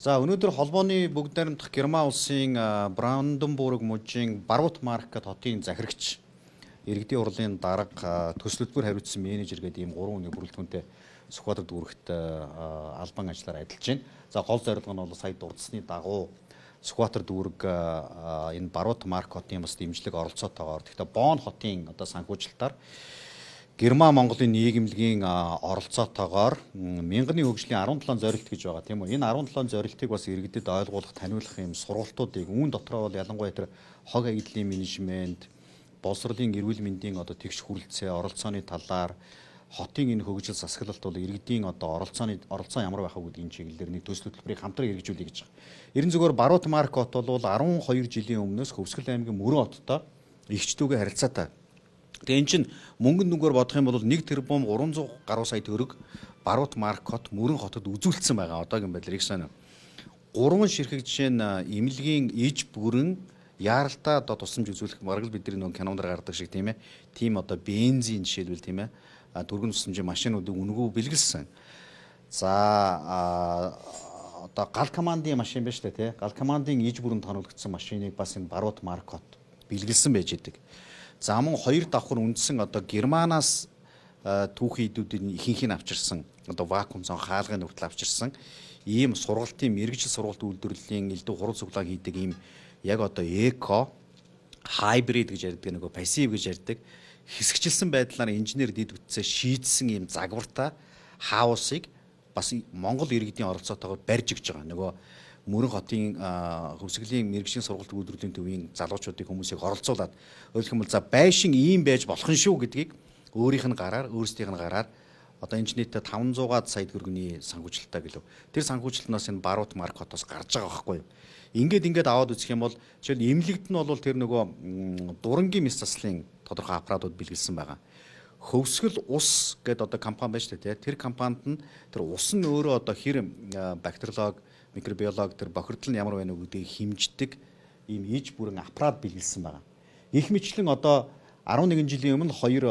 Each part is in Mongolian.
За өнөөдөр холбооны бүгд найрамдах Герман улсын Бранденбург мужийн Баруут Маркет хотын захирагч иргэдийн урлын дарга төсөлбөр хариуцсан менежер гэдэг ийм 3 хүний бүрэлдэхүүнтэй Сүхбаатар дүүрэгт албан ажиллаар ажиллаж байна. За гол зорилго нь бол сая дурдсны дагуу Сүхбаатар дүүрэг энэ Баруут Маркетын бас дэмжлэг оролцоотойгоор тэгэхээр Бонн хотын одоо санхүүжилтаар Герман Монголын нийгэмлэгийн оролцоотойгоор мянганы хөгжлийн 17 зорилт гэж байгаа тийм үү. Энэ 17 зорилтыг бас иргэдэд ойлгуулах, таниулах юм сургалтуудыг үүн дотроо бол ялангуяа тэр хог аяллаа менежмент, боловсролын эрүүл мэндийн одоо тэгш хүрэлцээ, оролцооны талаар хотын энэ хөгжил засаглалт бол иргэдийн одоо оролцоо ямар байх вэ гэдгийн чиглэлээр нэг төсөл хөтөлбөрийг хамтран хэрэгжүүлэе гэж байгаа. Ерөн зөвхөн Баруут Маркет бол 12 жилийн өмнөөс Хөвсгөл аймгийн Мөрөн хоттой эгчдүүгээ харилцаатай. Тэгээ эн чинь мөнгөнд нүгээр бодох юм бол 1 тэрбум 300 гаруй сая төгрөг Баруут Маркет Мөрөн хотод үзүүлсэн байгаа. Одоогийн байдлаар их сайн. 3 ширхэг жишээ нь эмнэлгийн иж бүрэн яаралтай одоо тусламж үзүүлэх бараг л бидний нэг кинонд гардаг шиг тийм ээ. Тим одоо бензин жишээлбэл тийм ээ. Түргэн тусламжийн машинуудыг үнгүү бэлгэлсэн. За одоо гал командын машин байна шүү дээ тий. Гал командын иж бүрэн тоногдсон машиныг бас энэ Баруут Маркет бэлгэлсэн байж идэг. За мөн 2 давхар үндсэн одоо Германаас түүхий идүүдийн ихэнхийг авчирсан одоо вакуум зон хаалгын хүртэл авчирсан ийм сургалтын мэрэгжил сургалт үйлдвэрлэлийн элдв хурал цуглаан хийдэг ийм яг одоо эко хайбрид гэж ярьдаг нөгөө пассив гэж ярьдаг хэсэгчилсэн байдлаар инженер дэд бүтцээ шийдсэн ийм загвартай хаусыг бас Монгол иргэдийн оролцоотойгоор барьж өгч байгаа. Нөгөө Мөрөн хотын хөвсгөлийн мэрэгжлийн сургалт үйлдвэрлэлийн төвийн залуучуудыг хүмүүсийг оролцуулаад өөрөлдөх юм бол за байшин ийм байж болох нь шүү гэдгийг өөрийнх нь гараар өөрсдийнх нь гараар одоо энэ нийтдээ 500-аад сая төгрөгийн санхүүжилттэй гэлөө. Тэр санхүүжилтнаас энэ Баруут Маркетоос гарч байгаа байхгүй юу? Ингээд аваад үзэх юм бол жишээл эмнэлэгт нь бол тэр нөгөө дурангийн мэс заслын тодорхой аппаратууд бэлгэлсэн байгаа. Хөвсгөл ус гэдэг одоо компани байна шүү дээ. Тэр компанид нь тэр ус нь өөрөө одоо хэр бактериолог микробиолог тэр бохирдол нь ямар байна вэ гэдгийг хэмждэг ийм иж бүрэн аппарат бэлгэлсэн байгаа. Их мэтлэн одоо 11 жилийн өмнө 2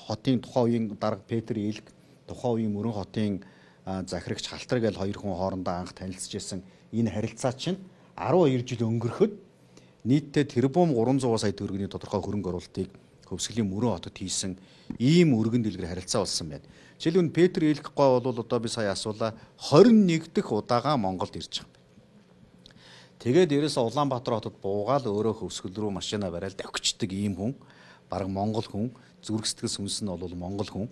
хотын тухайн үеийн дарга Петр Илг, тухайн үеийн Мөрөн хотын захирагч Халтар гэж 2 хүн хоорондоо анх танилцж байсан энэ харилцаа чинь 12 жил өнгөрөхөд нийтдээ тэрбум 300 сая төгрөгийн тодорхой хөрөнгө оруулалтыг Хөвсгөлийн Мөрөн хотод хийсэн ийм өргөн дэлгэр харилцаа болсон байна. Жишээлбэл Петр Илггүй бол одоо би сая асуулаа 21 дэх удаага Монголд ирж байгаа юм. Тэгээд дээрээс Улаанбаатар хотод буугаал өөрөө Хөвсгөл рүү машина бариад давхичдаг ийм хүн, бараг монгол хүн, зүрх сэтгэл сүнс нь бол монгол хүн.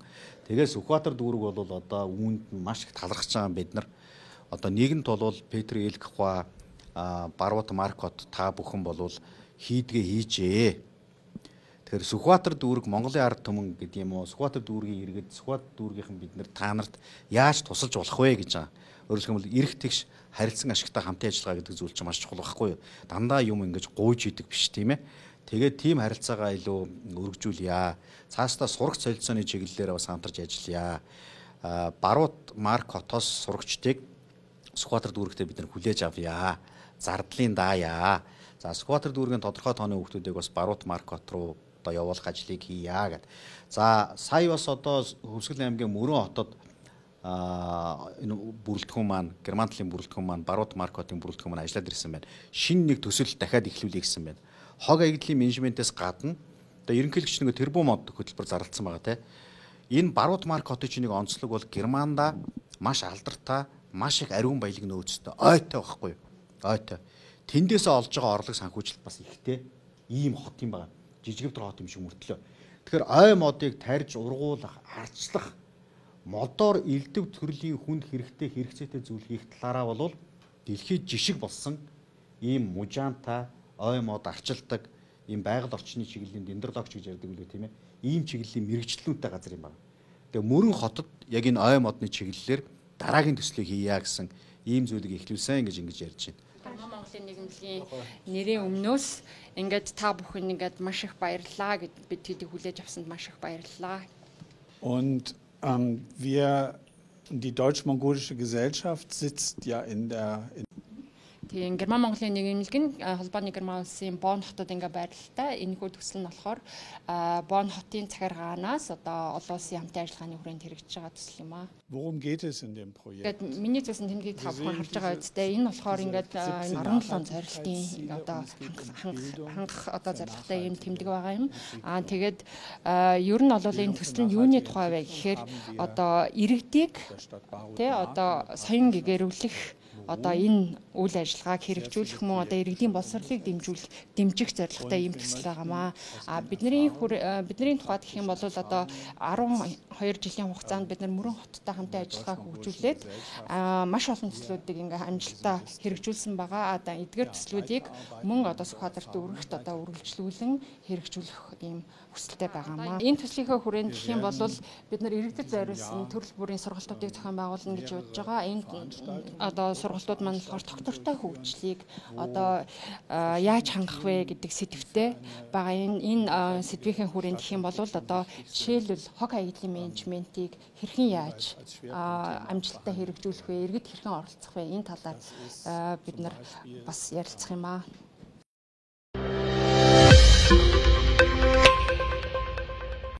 Тэгээд Сүхбаатар дүүрэг бол одоо үүнд маш их талархаж байгаа бид нар. Одоо нэгэнт бол Петр Илггүй Баруут Маркет та бүхэн бол хийдгээ хийжээ. Тэгэхээр Сүхбаатар дүүрэг Монголын ард түмэн гэдэг юм уу? Сүхбаатар дүүргийн иргэд, Сүхбаатар дүүргийнхэн бид нар та нарт яаж тусалж болох вэ гэж байгаа. Өөрөлдөх юм бол эрх тэгш харилцан ашигтай хамтын ажиллагаа гэдэг зүйл чинь маш чухал байхгүй юу? Дандаа юм ингэж гуйж идэг биш тийм ээ. Тэгээд тийм харилцаагаа илүү өргөжүүлъя. Цаастаа сурагч солилцооны чиглэлээр бас хамтарч ажиллая. Баруут Маркетоос сурагчдыг Сүхбаатар дүүрэгтээ бид нар хүлээж авъя. Зардлын даая. За Сүхбаатар дүүргийн тодорхой тооны хүүхдүүдийг бас Баруут Маркет руу одоо явуулах ажлыг хийя гэд. За сая бас одоо Хөвсгөл аймгийн Мөрөн хотод энэ бүрэлдэхүүн маань Герман талын бүрэлдэхүүн маань Баруут Маркетын бүрэлдэхүүн маань ажиллаад ирсэн байна. Шинэ нэг төсөл дахиад эхлүүлээ гэсэн байна. Хог аяллаа менежментээс гадна одоо ерөнхийлөгч нэг тэрбум мод хөтөлбөр зарласан байгаа тийм. Энэ Баруут Маркетын чинь нэг онцлог бол Германда маш алдартай, маш их ариун баялаг нөөцтэй ойтой байхгүй юу? Ойтой. Тэндээсээ олж байгаа орлого санхүүжилт бас ихтэй ийм хот юм байна. Жижигвтер хот юм шиг мөртлөө. Тэгэхээр ой модыг тарьж ургуулах, арчлах, модоор элдв төрлийн хүнд хэрэгцээтэй зүйл хийх талаараа бол дэлхийд жишг болсон ийм мужаантай ой мод арчилдаг ийм байгаль орчны чиглэлийн дендрологч гэж ярьдаг үлээ тийм ээ. Ийм чиглэлийн мэрэгчлэнтэй газар юм байна. Тэгээ Мөрөн хотод яг энэ ой модны чиглэлээр дараагийн төслийг хийя гэсэн ийм зүйлийг эхлүүлсэн ингэж ярьж байна. Монголын нийгэмлэгийн нэрийн өмнөөс ингээд та бүхэн ингээд маш их баярлалаа гэд бид тэдийг хүлээж авсанд маш их баярлалаа. Und die deutsch-mongolische Gesellschaft sitzt ja Тийм Герман Монголын нэгэнлэг нь холбооны Герман улсын Бонн хотод ингээ байрлалтай. Энэхүү төсөл нь болохоор Бонн хотын захиргаанаас одоо олон улсын хамтын ажиллагааны хүрээнд хэрэгжиж байгаа төсөл юм аа. Worum geht es in dem Projekt? Ингээд миний зүйлсэн тэмдгийг та бүхэн харж байгаа үстэй. Энэ болохоор ингээд 17 зорилтын одоо хангах одоо зорилготой юм тэмдэг байгаа юм. Тэгээд ер нь бол энэ төсөл нь юуны тухай вэ гэхээр одоо иргэдийг тий одоо соён гэгэрүүлэх одоо энэ үйл ажиллагааг хэрэгжүүлэх мөн одоо иргэдийн боловсролыг дэмжих зорилготой юм төсөл байгаамаа. Бидний тухайд гэх юм бол одоо 12 жилийн хугацаанд бид нар мөрөн хоттой хамтын ажиллагаа хөгжүүлээд маш олон төслүүдийг ингээ амжилттай хэрэгжүүлсэн байгаа. Одоо эдгээр төслүүдийг мөн одоо Сүхбаатарт өргөхт одоо үргэлжлүүлэн хэрэгжүүлэх юм хүсэлтэй байгаамаа. Энэ төслийнхөө хүрээнд гэх юм бол бид нар иргэдэд зориулсан төрөл бүрийн сургалтуудыг зохион байгуулна гэж бодож байгаа. Энэ одоо сургалтууд маань болохоор доктортой хөгжлийг одоо яаж хангах вэ гэдэг сэдвтэй байгаа. Энэ сэдвийн хүрээнд гэх юм бол одоо жишээлбэл хог аяллаа менежментийг хэрхэн яаж амжилттай хэрэгжүүлэх вэ, иргэд хэрхэн оролцох вэ, энэ талаар бид нар бас ярилцах юм аа.